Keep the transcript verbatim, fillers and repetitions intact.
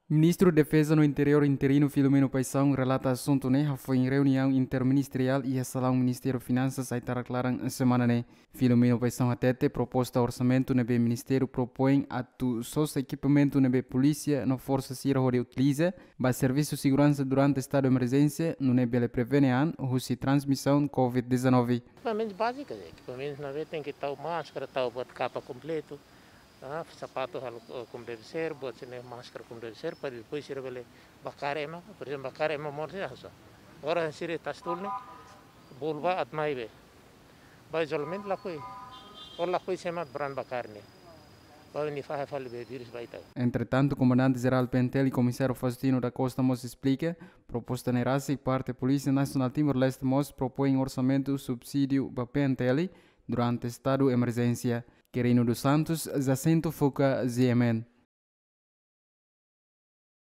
Ministru Defeza no Interiór interinu Filomeno Paixão relata asuntu ne'e hafoin reuniaun interministeriál iha salaun Ministériu Finansas aitarak laran semana ne'e. Filomeno Paixão hatete proposta orsamentu ne'ebé ministériu propoin atu sosa ekipamentu ne'ebé polísia no forsa sira hodi utiliza ba servisu seguransa durante estadu emerjénsia, nune'e bele prevene an husi transmisaun covid dezanove. Ekipamentu báziku, ekipamentu ne'ebé tenke tau máskara, tau buat kapa kompletu, ah, sapatu halo, eh, komu deve ser, buat sira-ne'e máskara komu deve ser, para depois sira bele bakar ema, por ezemplu, bakar ema moris ya sa. Agora sira iha Tastul ne'e, bolu ba atu mai be. Ba izolamentu lakohi, o lakohi sema brand bakar ne'e. Ba nia fahe fali be vírus ba ita. Entretantu, Komandante Jerál P N T L, Komisáriu Faustino da Costa mós esplika, proposta ne'e rasik parte Polísia Nasionál Timor-Leste mós propoin orsamentu subsídiu ba P N T L durante estadu emerjénsia. Quirino dos Santos, Jacinto Fuca, G M N.